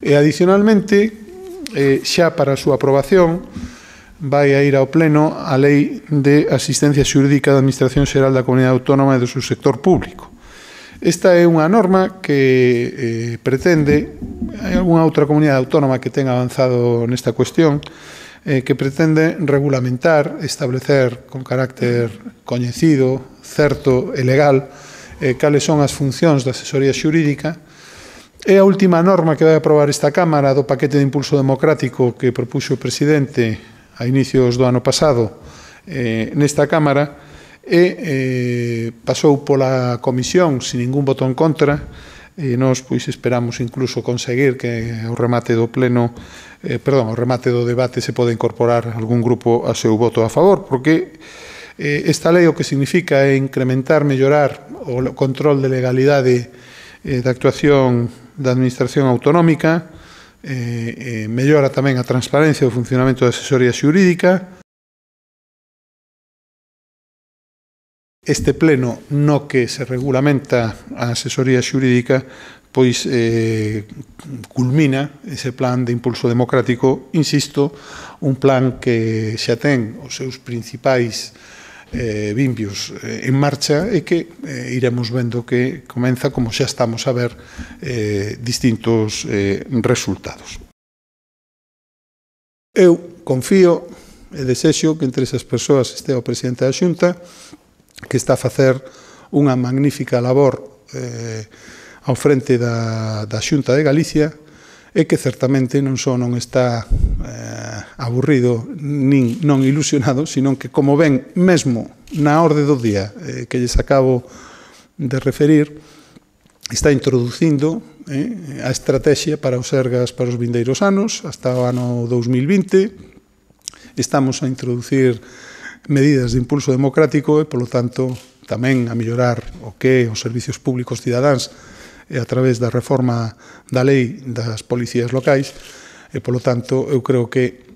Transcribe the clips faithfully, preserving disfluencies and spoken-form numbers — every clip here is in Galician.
E, adicionalmente, eh, xa para a súa aprobación, vai a ir ao Pleno a Lei de Asistencia Xurídica da Administración Xeral da Comunidade Autónoma e do seu sector público. Esta é unha norma que eh, pretende, hai algunha outra comunidade autónoma que ten avanzado nesta cuestión, eh, que pretende regulamentar, establecer con carácter coñecido, certo e legal, eh, cales son as funcións da asesoría xurídica. É a última norma que vai aprobar esta Cámara do paquete de impulso democrático que propuxo o presidente a inicios do ano pasado eh, nesta Cámara, e eh, pasou pola Comisión sin ningún voto en contra, e nós pois esperamos incluso conseguir que ao remate do pleno, eh, perdón, ao remate do debate se pode incorporar algún grupo a seu voto a favor, porque eh, esta lei o que significa é incrementar, mellorar o control de legalidade eh, da actuación da Administración Autonómica, eh, eh, mellora tamén a transparencia do funcionamento da asesoría xurídica. Este pleno no que se regulamenta a asesoría xurídica pois eh, culmina ese plan de impulso democrático, insisto, un plan que xa ten os seus principais eh, vimbios eh, en marcha e que eh, iremos vendo que comeza, como xa estamos a ver, eh, distintos eh, resultados. Eu confío e desexo que entre esas persoas este o presidente da Xunta, que está a facer unha magnífica labor eh, ao frente da, da Xunta de Galicia e que certamente non só non está eh, aburrido nin non ilusionado, sino que, como ven mesmo na orde do día eh, que lles acabo de referir, está introducindo eh, a estrategia para os Sergas para os vindeiros anos, hasta o ano dous mil vinte. Estamos a introducir medidas de impulso democrático e, polo tanto, tamén a mellorar o que os servicios públicos cidadáns e a través da reforma da lei das policías locais e, polo tanto, eu creo que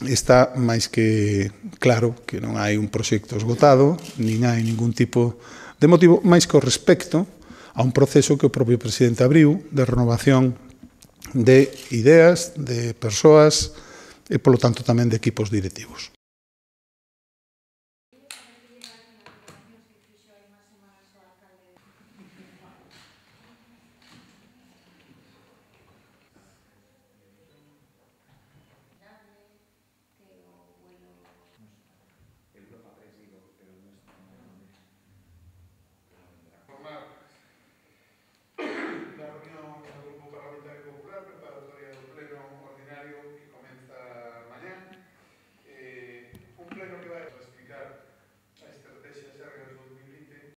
está máis que claro que non hai un proxecto esgotado, nin hai ningún tipo de motivo, máis que o respecto a un proceso que o propio presidente abriu de renovación de ideas, de persoas e, polo tanto, tamén de equipos directivos.